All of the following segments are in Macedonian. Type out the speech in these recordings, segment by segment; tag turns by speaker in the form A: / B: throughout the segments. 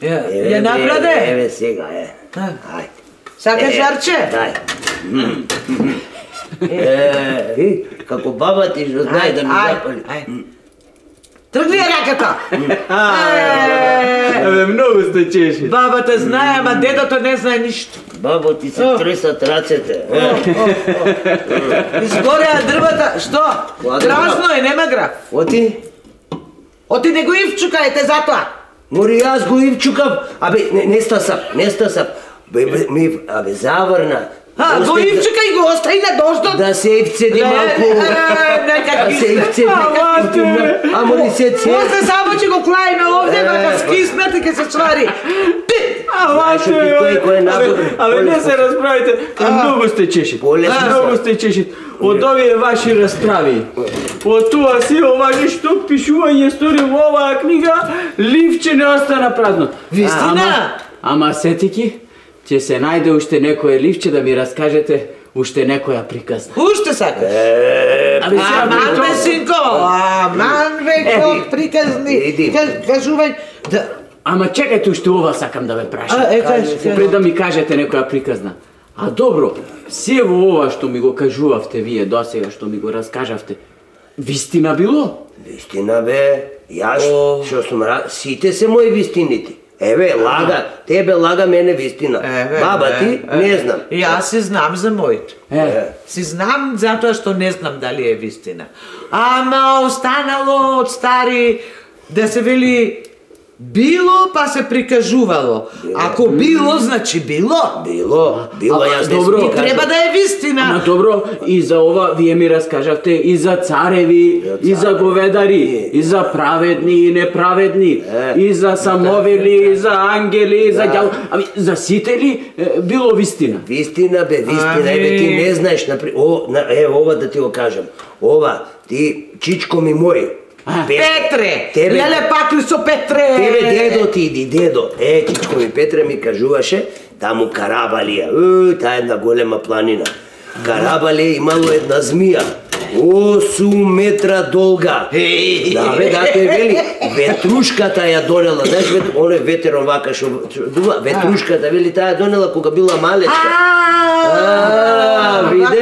A: Ја напраде?
B: Еве сега, Ајде.
A: Сакаш жарче?
B: Дај. Како баба ти што знае да ми запали.
A: Тргни ја раката!
C: Многу сте чеши.
A: Бабата знае, ама дедото не знае ништо.
B: Бабо ти се тресат рацете.
A: Изгореа дрвата, што? Празно е, нема граф.
B: Оти?
A: Оти не го ивчукајте затоа.
B: Мори јас го ивчукав, не стасав. Абе заврна.
A: Го ивчука и го остави на доштот.
B: Да се ивцеди малку. Да се ивцеди. Амо ли се це?
A: После само ќе го клајме овде, ка скиснат и ке се чвари.
C: Абе не се расправите, многу сте чеши. Многу сте чеши. Од овие ваши расправи. Од тоа си ова ништо пишување стори во оваа книга, ливче не остана празно.
A: Вистина?
C: Ама сетики, ќе се најде уште некое ливче да ми раскажете уште некоја приказна.
A: Уште сакаш? Аман бе, синко, аман бе, приказни, кажувај.
C: Ама чекајте, уште ова сакам да ве прашам.
A: Кажи.
C: Пред да ми кажете некоја приказна. А добро, се во ова што ми го кажувавте вие досега, што ми го раскажавте, вистина било?
B: Вистина бе, јас што сум сите се мои вистините. Еве, лага, тебе лага, мене вистина. Баба ти, не знам.
A: Јас си знам за моите. Си знам затоа што не знам дали е вистина. Ама останало од стари да се вели било па се прикажувало. Ако било, значи било.
B: Било, јас не
C: добро.
A: И треба да е вистина.
C: Ама добро, и за ова вие ми раскажавте и за цареви, и за говедари, и за праведни и неправедни, и за самовели, и за ангели, и за ѓал. Ами за сите ли било вистина?
B: Вистина бе, вистина. Еве ти не знаеш, ево ова да ти го кажам. Ова, ти чичко ми мој.
A: Петре! Леле пакли со Петре!
B: Тебе дедо ти иди, дедо. Чичко ми Петре ми кажуваше, таму Карабалија, таа една голема планина. Карабалија имало една змија, 8 метра долга. Да бе, да те вели, ветрушката ја донела, знаеш, оној ветерон вака што дува, ветрушката вели таа ја донела кога била малечка. Виде,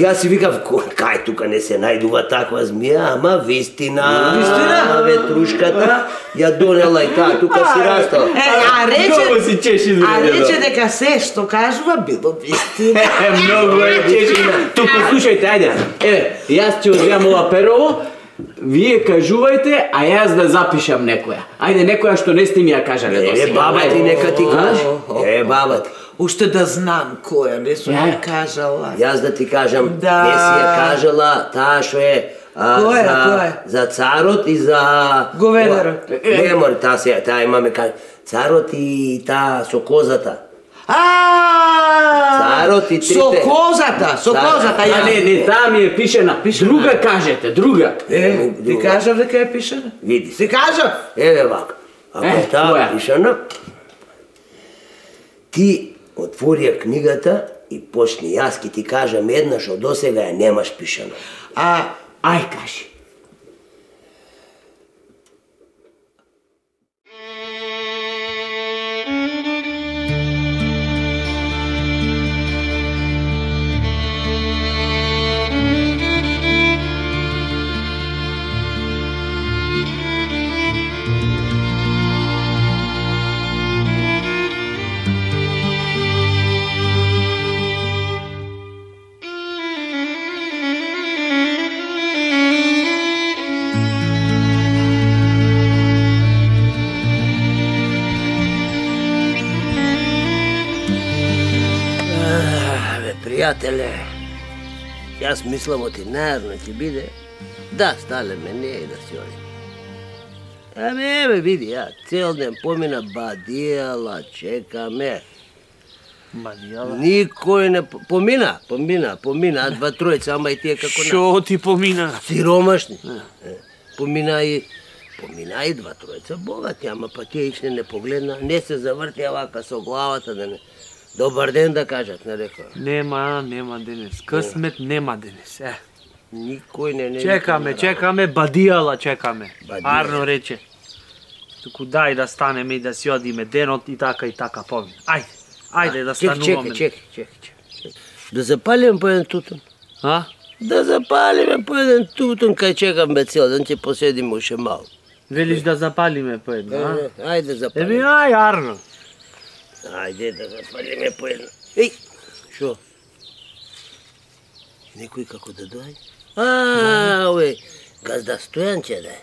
B: јас си викав, кај тука не се најдува таква змија, ама вистина.
A: Вистина?
B: Ветрушката ја донела и таа тука си растала.
A: А рече дека се што кажува било вистина.
C: Многу е чеши. Тука слушајте, ајде. Еве, јас ќе одземам ова перово, вие кажувајте, а јас да запишам некоја. Ајде, некоја што не сте ми ја кажале досега.
B: Баба ти нека ти каже. Баба ти.
A: Уште да знам која, не сум ја кажала.
B: Јас да ти кажам, не си ја кажала таа што е за царот и за
A: говедарот.
B: Не мори, таа имаме кажа. Царот и таа со козата. Царот и трите.
A: Со козата.
C: Не, таа ми е пишена. Друга кажете, друга.
A: Ти кажав дека е пишена?
B: Види.
A: Ти кажав?
B: Еве вака. Ако таа пишена, ти отвори ја книгата и почни. Јас ки ти кажам една што досега ја немаш пишана.
C: Ај кажи.
B: Пријателе, јас мислам оти најарно ќе биде да сталеме ние и да си одиме. Еве види, ја цел ден помина бадијала, чекаме.
D: Бадијала?
B: Никој не помина, два тројца, ама и тие како
D: Шо ти помина?
B: Сиромашни. Помина и два тројца богати, ама па тие ичне не погледна, не се завртија вака со главата да не. Добар ден да кажат, не рекоа.
D: Нема денес. Късмет нема денес.
B: Никој не.
D: Чекаме, бадијала чекаме. Арно рече. Туку дај да станеме и да си одиме денот и така помина. Ајде да стануваме.
B: Чекай. Да запалиме по еден тутун.
D: А?
B: Да запалиме по еден тутун, кај чекаме цел ден, ќе поседиме уште малку.
D: Велиш да запалиме по една, а?
B: Ајде запалиме.
D: Арно.
B: Ајде да запалиме по една. Еј, шо? Некој како да доаѓа? Овој, газда Стојан ќе да е.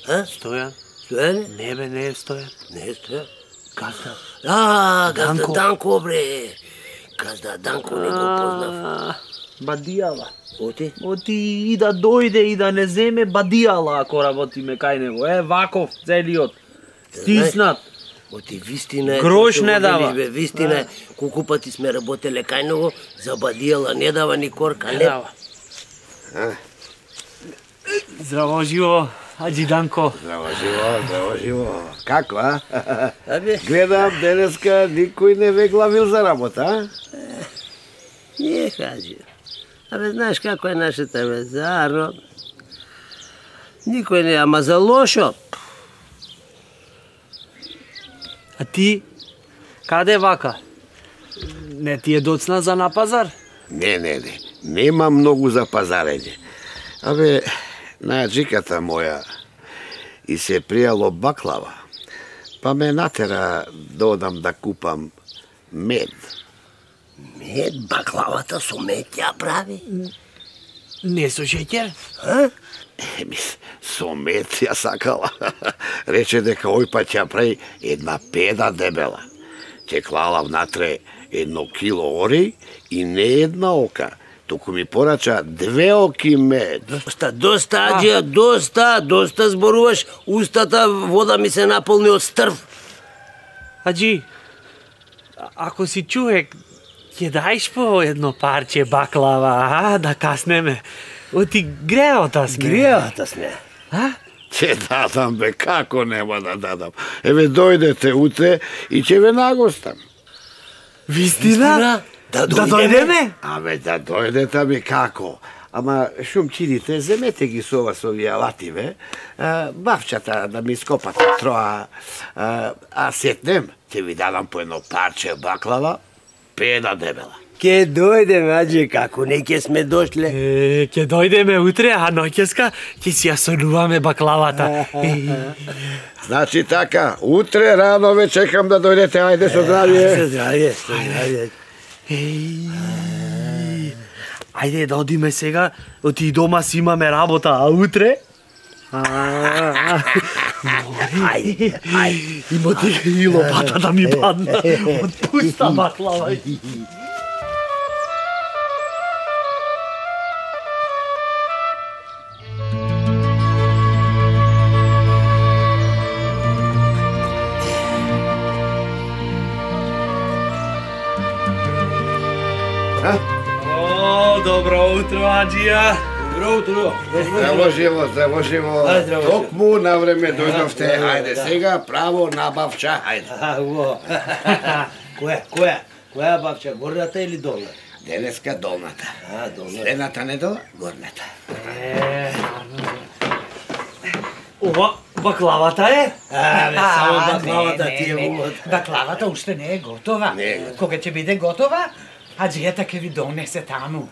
B: А?
D: Стојан?
B: Стојан?
D: Не бе, не е Стојан.
B: Не е Стојан.
D: Газда.
B: Газда Данко, бре. Газда Данко не го познав.
D: Бадијала.
B: Оти?
D: И да дојде и да не земе бадијала ако работиме кај него. Ваков, целиот. Стиснат.
B: Оти вистина е.
D: Грош
B: што
D: не
B: го
D: дава.
B: велиш, бе, вистина е. Колку пати сме работеле кај него, за бадијала не дава ни корка, не.
D: Дава. Здраво живо, Аџи Данко.
E: Здраво живо. Како, а?
B: Абе,
E: Гледам, денеска никој не ве главил за работа, а?
B: не хаđи. Абе, знаеш како е нашата бе, зарно. Никој не, ама за лошо.
D: А ти, каде вака? Не ти е доцна за на пазар?
E: Не. Нема многу за пазарење. Абе, на джиката моја и се пријало баклава, па ме натера да одам да купам мед.
B: Мед, баклавата со мед ја прави.
D: Не со шеќер?
E: Еми, со мед ја сакала. Рече дека ој пат ќе прави една педа дебела. Ќе клала внатре 1 кило ори и не една ока, туку ми порача 2 оки мед.
B: Доста, Аџија, доста зборуваш, устата вода ми се наполни од стрв.
D: Аџи, ако си човек, ќе дајш по едно парче баклава, да каснеме. Оти греота сме.
B: Греата сме.
E: Ќе дадам, бе, како нема да дадам. Еве, дојдете утре и ќе ве нагостам.
D: Вистина?
B: Да
D: дојдеме?
E: Абе, да дојдете, ами како? Ама шумчините, земете ги со ова, со овие алативе, бавчата да ми скопате троа, а сетнем, ќе ви дадам по едно парче баклава, педа дебела.
B: Ке дојдеме, Аџи, како не ке сме дошле.
D: Ќе дојдеме утре, а ноќеска ќе си ја сонуваме баклавата.
E: Значи така, утре рано ве чекам да дојдете, ајде со здравје.
B: Здравје.
D: Ајде да одиме сега, оти дома си имаме работа, а утре?
B: Ајде.
D: Има ти и лопата да ми падна од пуста баклава. Добро утро, Аџија.
B: Добро утро.
E: Здраво живо. Токму на време дојдовте, ајде сега право набавча, ајде.
B: Која бавча, горната или долната?
E: Денеска долната.
B: Долната.
E: Следната недела горната.
D: Ова баклавата е?
B: Само баклавата ти е умот.
A: Баклавата уште не е готова. Кога ќе биде готова, Аџијата ќе ви донесе таму.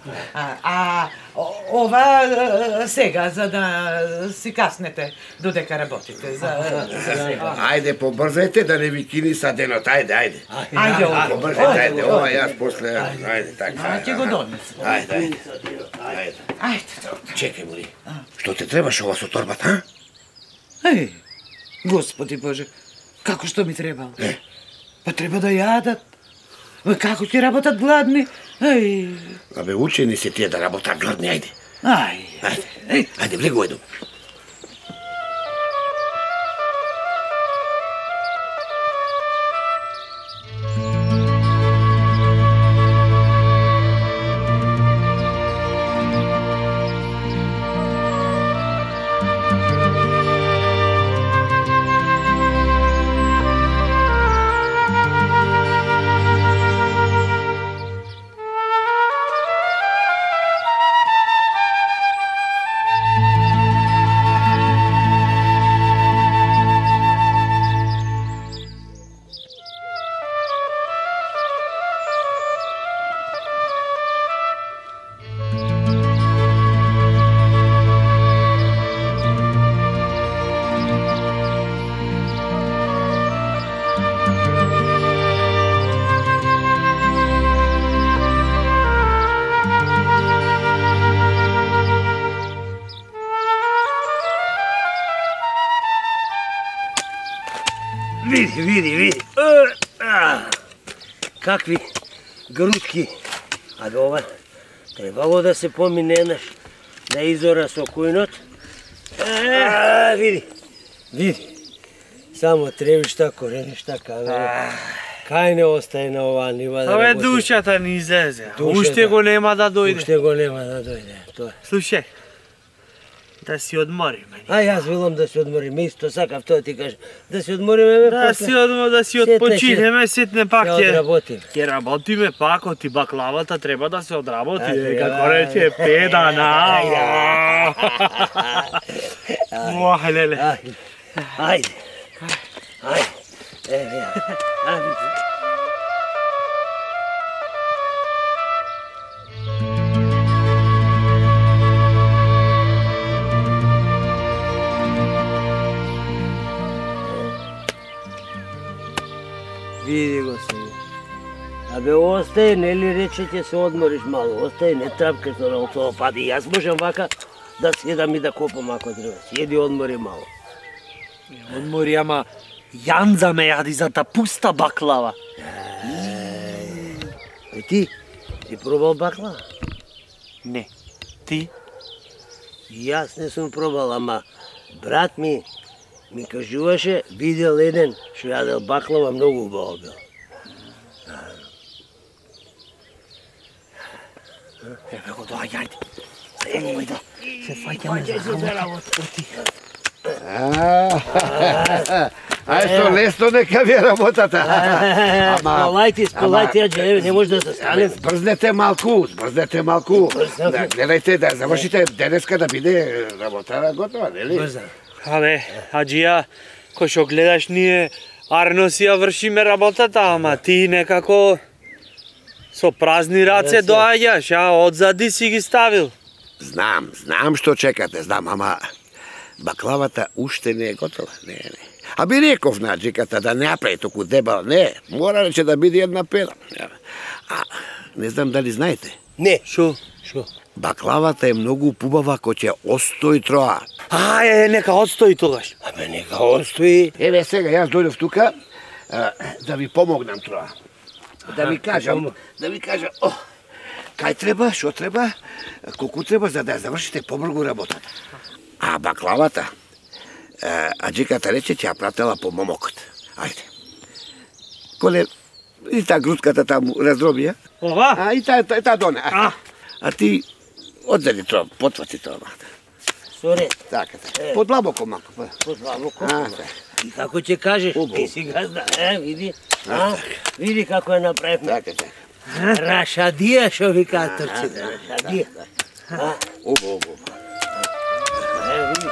A: Ова сега, за да си каснете додека работите. За сега.
E: Ајде, побрзајте да не ви кини са денот, ајде.
A: Ајде,
E: Побрзајте, ајде, ова јас после, ајде, така.
A: ќе го донесе.
E: Ајде.
A: Ајде,
E: Чекај, Мори, што те требаш ова со торбата, а?
A: Еј, Господи Боже, како што ми требало? Па треба да јадат. Како ќе работат гладни? Еј.
E: Абе, учени се тие да работат гладни, ајде.
A: Ајде,
E: Влегувај до.
B: Види. Какви грудки. Абе, ова требало да се помине еднаш да изора со кујнот. Види. Само тревишта, кореништа, каве. Кај не остае на оваа нива да
D: Абе,
B: работи?
D: душата ни излезе.
B: Душата.
D: Уште го нема да дојде.
B: Уште го нема да дојде, тоа.
D: Слушај, да си одмориме.
B: Јас велам да се одмориме, исто сакав тоа ти кажам. Да се одмориме,
D: Да си отпочинеме, сетне пак
B: ќе одработиме.
D: Ќе работиме пак, оти баклавата треба да се одработи, како рече Педа на. Леле.
B: Ајде. Види го сега. Абе, остај, нели рече ќе се одмориш мало, остај, не трапкаш на тоа пади. Јас можам вака да седам и да копам ако треба. Седи, одмори мало.
D: Одмори, ама Јанза ме јади за та пуста баклава.
B: Ти пробал баклава?
D: Не. Ти?
B: Јас не сум пробал, ама брат ми кажуваше, видел еден што јадел баклава, многу убаво бил.
D: Еве го доаѓајте. Ајде. Се фаќаме за работа.
E: Ај, лесно нека ви е работата.
B: Спалајте, ајде, не може да се стане.
E: Брзнете малку. Гледајте да завршите денеска да биде работа готова, нели?
D: Абе, аџија, кој што гледаш ние арно си ја вршиме работата, ама ти некако со празни раце доаѓаш, одзади си ги ставил.
E: Знам што чекате, ама баклавата уште не е готова, не. А би реков на джиката да не направи току дебел, не, мора рече да биде една пера. А, не знам дали знаете.
B: Не.
D: Шо?
E: Баклавата е многу пубава ко ќе остои троа.
D: Нека отстои тогаш.
B: Абе, нека остои.
E: Еве сега јас дојдов тука да ви помогнам троа. Да ви кажам, кај треба, што треба, колку треба за да ја завршите побрзо работата. А баклавата, аџиката рече ќе ја пратела по момокот. Ајде. Коле, и та грудката таму раздроби,
D: Ова?
E: и та доне. А ти одзеди тоа, потвати тоа махта.
B: Соре.
E: Така. Подлабоко малку.
B: Подлабоко. И како ќе кажеш, ти си газда, види. Види како е направив.
E: Така.
B: Рашадија што викаат турците, рашадија.
E: Убаво.
B: Видиш.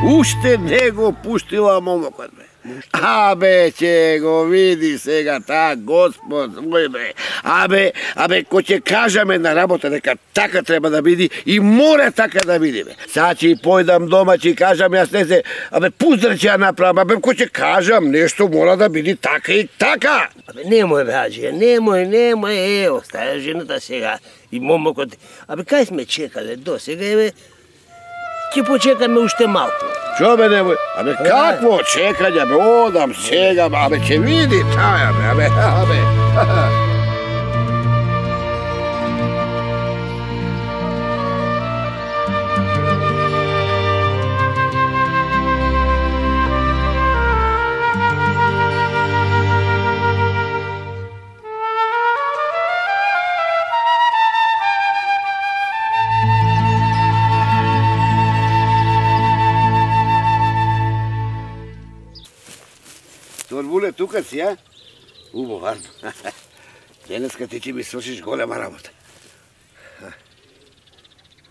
E: Уште не го пуштила момокот, бе. Абе, ќе го види сега таа Господ, мој бе. Абе, кој ќе кажаме на работа дека така треба да биде и мора така да биде, бе. Сад ќе појдам дома, ќе кажам, јас не се, пуздар ќе ја направам, кој ќе кажам, нешто мора да биде така и така.
B: Немој, бе, аџија, немој, остаја жената сега и момокот. Кај сме чекале до сега, ќе почекаме уште малку.
E: Што бе немој? Какво чекање, бе, одам сега, ќе види таја, бе. Торбуле, тука си, Убаво, варно. Денеска ти ќе ми свршиш голема работа.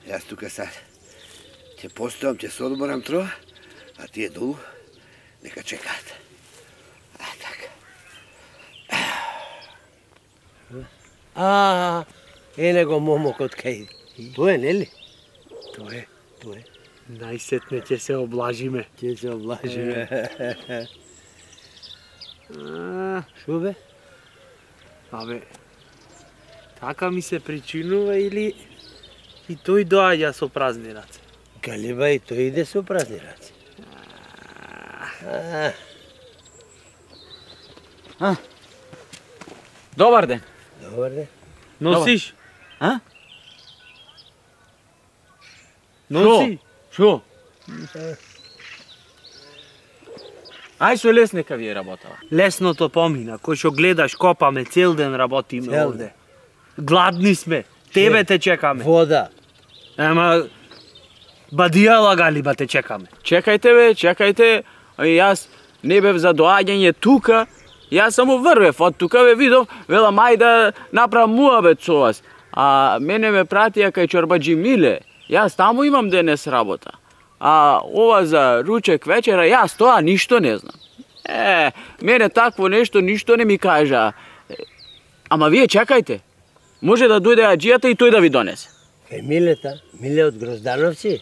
E: Јас тука сад ќе постојам, ќе се одморам троа, а тие долу нека чекаат.
B: Еле го момокот кај. Тоа нели?
D: Тоа е.
B: Тоа е.
D: Најсетне ќе се облажиме.
B: Ќе се облажиме. Шо бе?
D: Абе, така ми се причинува или и тој доаѓа со празни раце?
B: Галиба и тој иде со празни раце.
C: Добар ден.
B: Добар ден.
D: Носиш?
C: А?
D: Носи?
C: Шо? Ај со лес нека ви е работала.
D: Лесното помина, кој што гледаш, копаме, цел ден работиме
B: Цел
D: овде. Гладни сме, тебе те чекаме.
B: Вода.
D: Ама, бадијала галиба те чекаме.
C: Чекајте бе, чекајте. Јас не бев за доаѓање тука. Јас само врвев од тука, бе видов, велам ај да направам муабет со вас. А мене ме пратија кај чорбаџи Миле. Јас таму имам денес работа. А ова за ручек вечера, јас тоа ништо не знам. Мене такво нешто ништо не ми кажа. Ама вие чекајте. Може да дојде аџијата и тој да ви донесе.
B: Милета, Миле од Гроздановци?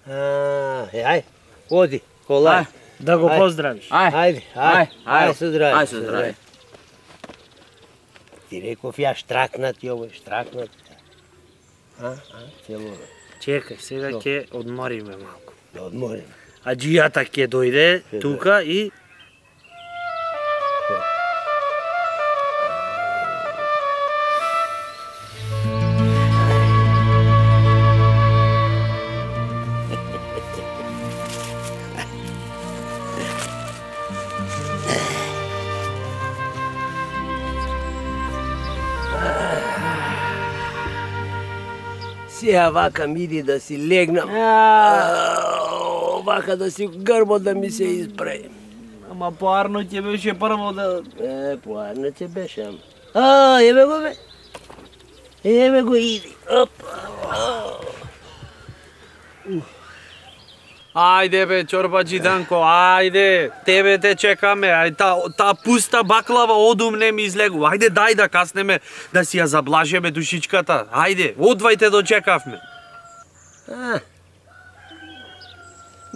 B: Ај, оди, колај.
D: Да го поздравиш.
B: Ајде, со здраве.
C: Ај со здраве.
B: Ти реков ја штракнат и овој штракнат. Цело.
D: Чекај, сега ќе одмориме малку.
B: Да одмориме.
D: Аџијата ќе дојде тука и
B: Сега вака мири да си легнам. Вака да си грбот да ми се испре.
D: ама поарно ќе беше прво да...
B: Поарно ќе беше, ама. Еве го бе. Еве го иди.
D: Ајде бе, чорбаџи Данко, ајде, тебе те чекаме, ај та пуста баклава одум не ми излегува. Ајде дај да каснеме, да си ја заблажеме душичката. Ајде, одвајте дочекавме.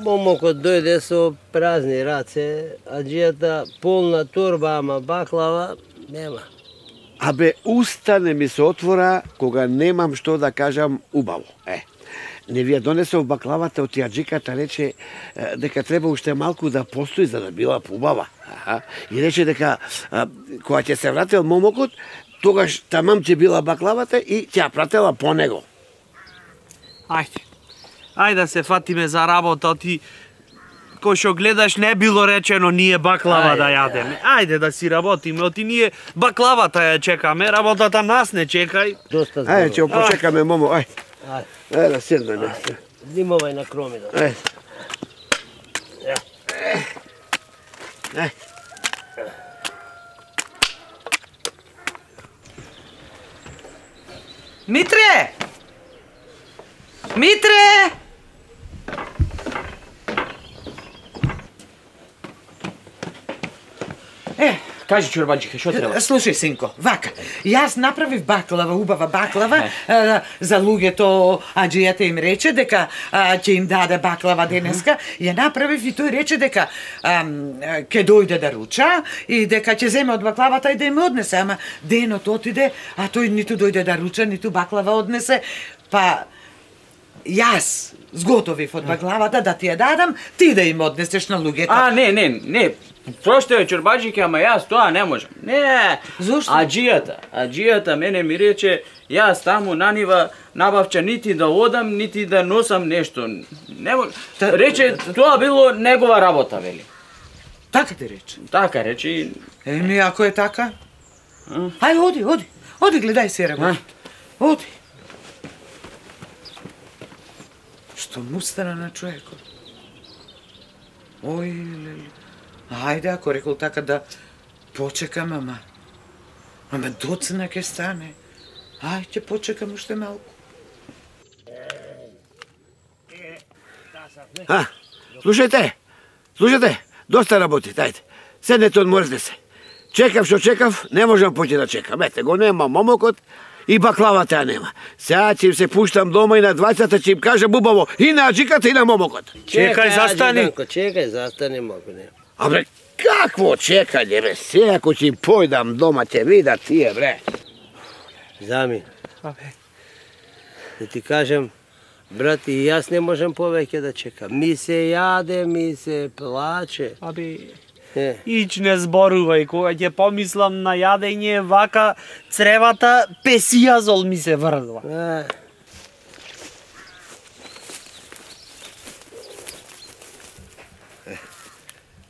B: Момокот дојде со празни раце, аџијата полна торба, ама баклава нема.
E: Абе, уста не ми се отвора кога немам што да кажам убаво. Не ви ја донесов баклавата од јаџиката, рече дека треба уште малку да постои за да била поубава. И рече дека кога ќе се вратил момокот, тогаш тамам ќе била баклавата и ќе ја пратела по него.
D: Ајде да се фатиме за работа, ти кој што гледаш не било речено ние баклава да јадеме. Ајде да си работиме, оти ние баклавата ја чекаме, работата нас не чекај.
B: Доста
E: Ајде, ќе го почекаме, момо, ај. Ајде да седнеме.
B: Зимовај на кромина.
A: Митре! Митре!
C: Кажи чорбаџике, што треба?
A: Слушај, синко, вака, јас направив баклава, убава баклава, за луѓето, аџијата им рече дека ќе им даде баклава денеска, ја направив и тој рече дека ќе дојде да руча и дека ќе земе од баклавата и да им однесе, ама денот отиде, а тој ниту дојде да руча, ниту баклава однесе, па јас зготовив од баклавата да ти ја дадам, ти да им однесеш на луѓето.
C: Не. Проштај, чорбаџике, ама јас тоа не можам. Не.
A: Зошто?
C: Аџијата мене ми рече, јас таму на нива набавча нити да одам, нити да носам нешто. Не може. Рече, тоа било негова работа, вели.
A: Така ти рече?
C: Така рече.
A: Еми, ако е така? Ајде, оди, гледај се работа. Оди. Што му стана на човекот? Ој, леле. Ајде, ако рекол така да почекам, ама доцна ќе стане. Ајде, почекам уште малку.
E: Слушајте, доста работите, ајде. Седнете, одморете се. Чекав што чекав, не можам поќе да чекам. Ете, го нема момокот и баклавата ја нема. Сега ќе им се пуштам дома и на двајцата ќе им кажам убаво и на аџиката и на момокот.
D: Чекај, застани.
B: Чекај, застани малку, не.
E: Абе, какво чекање, бе? Сега ако ќе им појдам дома, ќе видат тие, бре.
B: Зами. Да ти кажем, брат, и јас не можам повеќе да чекам. Ми се јаде, ми се плаче.
D: Ич не зборувај, кога ќе помислам на јадење, вака цревата песијазол ми се врзва.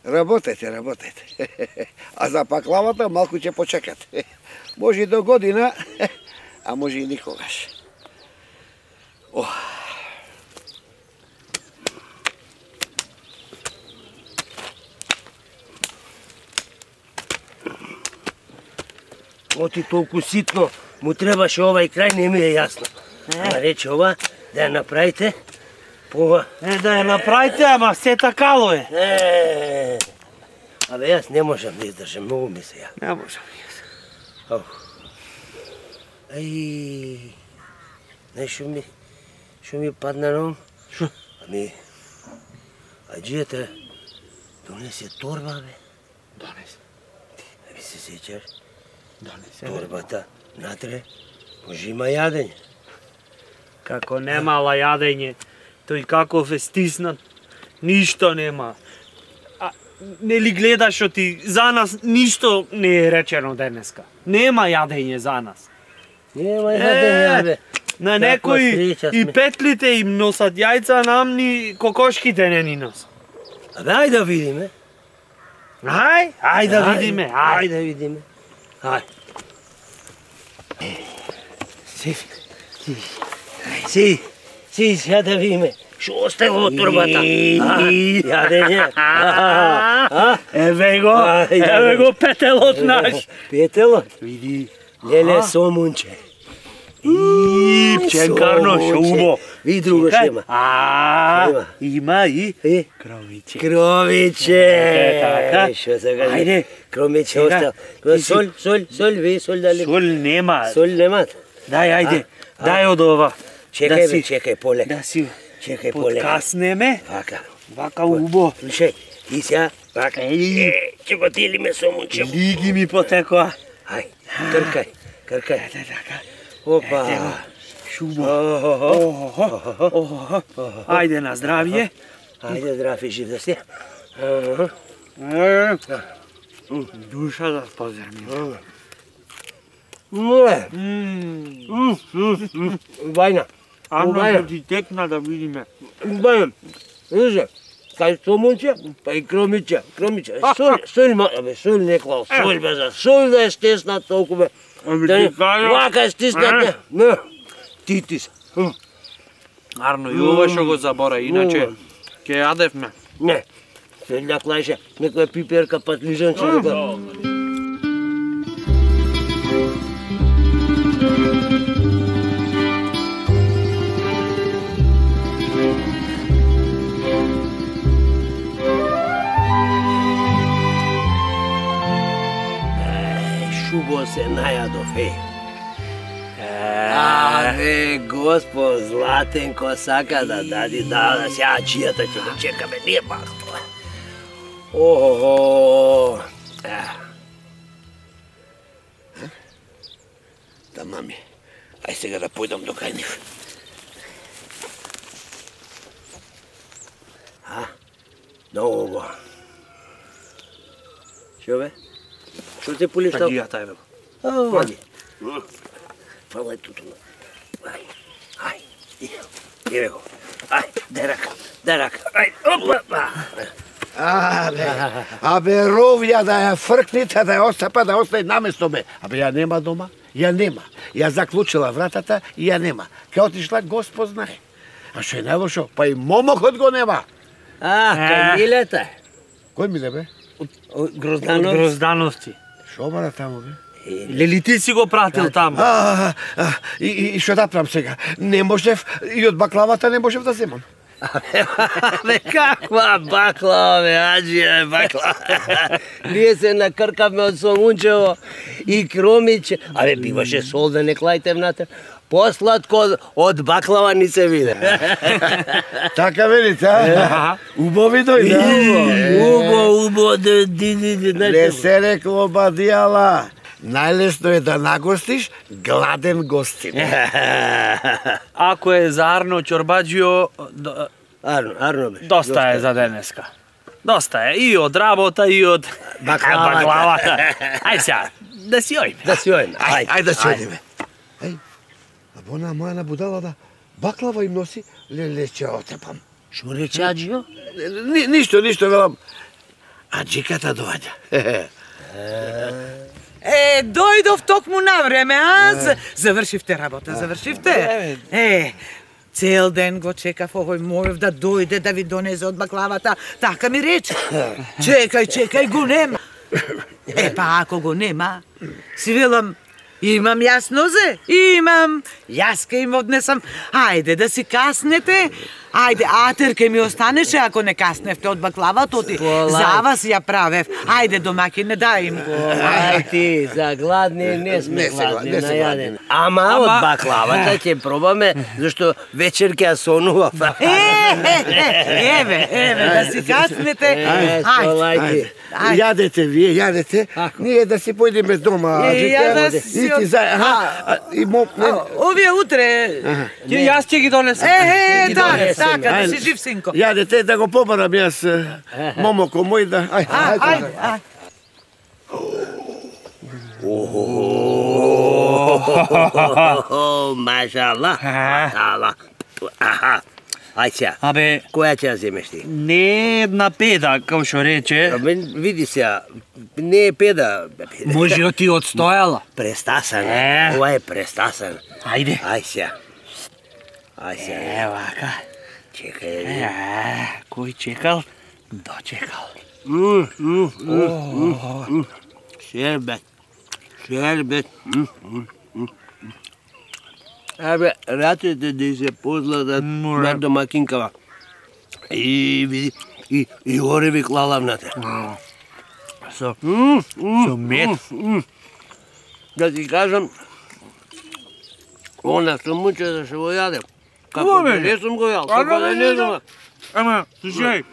E: Работете. А за баклавата малку ќе почекат. Може и до година, а може и никогаш.
B: Оти толку ситно, му требаше овај крај, не ми е јасно. Ама рече ова, да ја направите, пова.
D: Да ја направите, ама сета кало е.
B: Абе, јас не можам да издржам, многу ми се ја.
D: Не можам јас.
B: Ај, знаеш шо ми падна на ум?
D: Шо?
B: Ами, аџијата донесе торба, бе.
D: Донесе.
B: Ами се сеќаш?
D: Донесе.
B: Торбата, натре, може има јадење.
D: Како немала јадење, тој каков е стиснат, ништо нема. А нели гледаш што ти за нас ништо не е речено денеска. Нема јадење за нас.
B: Нема јадење, бе.
D: На некои и петлите им носат јајца, нам ни кокошките не ни носат.
B: Абе, ајде да видиме.
D: Ајде да видиме,
B: Ајде да видиме. Ајде. Си, сега да видиме. Шо оставило од торбата? Јадење.
D: Еве го петелот наш.
B: Петелот?
D: Види.
B: Леле сомунче.
D: Ченкарно шо убо.
B: Ви друго што има.
D: Има и кровиче.
B: Кровиче. Шо сега?
D: Ајде.
B: Кровиче остал. Соль, ви соль дали?
D: Соль нема.
B: Соль немат?
D: Ајде. Дај од ова.
B: Чекај полека.
D: Да си
B: Чекај полека.
D: подкаснеме.
B: Вака
D: убо.
B: Слушај, и сега, вака. Ќе го делиме сомунче.
D: Лиги ми потекоа.
B: Ај, кркај. Опа.
D: Шубо. Ајде на здравје.
B: Ајде, здрав и жив да си.
D: Душа да позерми.
B: Бајна.
D: Ано да ти текна да видиме.
B: Бајна. Вижте, кај сомунче, па и кромиче. Соль не клал, соль бе за соль да е стеснат толку бе. Вака е стиснат, не. Титис.
D: Арно, и ова што го забора, иначе ќе јадевме.
B: Не, селјак лаже, некоја пиперка, патлижанче, Шубо се најадов, Абе, Господ Златенко сака да дади да сега аџијата ќе го чекаме, ние пак тоа.
E: Да, мами, ај сега да појдам до кај нив.
B: Много. Шо бе? Шо те полиштал?
D: Аџијата е бе.
B: Ајде. Фала е туту. Ај. Еве го. Ај, дај рака. Ај, опа.
E: Абе, ровја да ја фркните, да ја остапа, да остане наместо бе. Абе, ја нема дома, ја нема. Ја заклучила вратата и ја нема. Ке отишла Господ знае. А што е најлошо, па и момокот го нема.
B: Кај Милета.
E: Кој Миле бе?
B: Гроздановци.
D: Гроздановци.
E: Шо бара таму бе?
D: Лели ти си го пратил таму?
E: И што да правам сега? Не можев, и од баклавата не можев да земам.
B: Абе, каква баклава, бе, Аџија, баклава. Ние се накркавме од Сомунчево и Кромиче. Абе, биваше сол да не клајте внатре. Посладко од баклава ни се виде.
E: Така велите, а? Убави дојде.
B: Убо,
E: Не се рекло бадијала. Најлесно е да нагостиш гладен гостин.
D: Ако е за Арно Чорбаџио,
B: Арно, бе.
D: доста е за денеска. Доста е и од работа и од баклавата. Ај сега, да си ојме.
B: Да си ојме,
E: Ајде да си одиме. Ај, а бона моја будала да баклава им носи, леле ќе отепам.
B: Шо рече Аџио?
E: Ништо, велам. Аџиката доаѓа.
A: Дојдов токму на време, а? Завршивте работа, завршивте? Цел ден го чекав овој Мојов да дојде да ви донесе од баклавата. Така ми рече. Чекај, го нема. Па ако го нема, си велам, имам јас нозе, имам. Јас ке им однесам. Ајде да си каснете. Ајде, атер ке ми останеше ако не касневте од баклавата, оти за вас ја правев. Ајде, домаќине, дај им го.
B: Ај ти, за гладни не сме гладни, најадени. Ама од баклавата ќе пробаме, зашто вечер ќе ја сонував.
A: Еве, да си каснете.
B: Ајде.
E: Јадете вие, јадете. Ние да си појдеме дома. И ти за...
A: Овие утре...
D: Јас ќе ги донесам.
A: Така, да си жив, синко.
E: Јадете да го побарам јас момоко мој да...
A: Ајде.
B: Машала. Ај сега,
D: Абе,
B: која ќе ја земеш ти?
D: не една педа, како што рече.
B: Види сега, не е педа.
D: Може ти одстојала.
B: Престасан. Ова е престасан.
D: Ајде.
B: Ај сега.
D: Вака.
B: Чекај.
D: Кој чекал, дочекал.
B: Шербет. Абе, рацете да се позладат на домакинкава. И види, и ореви клала внатре.
D: Со мед.
B: Да ти кажам, она што муче да се го јадем. Како да не сум го јал, како да не знам.
D: Ама, слушај,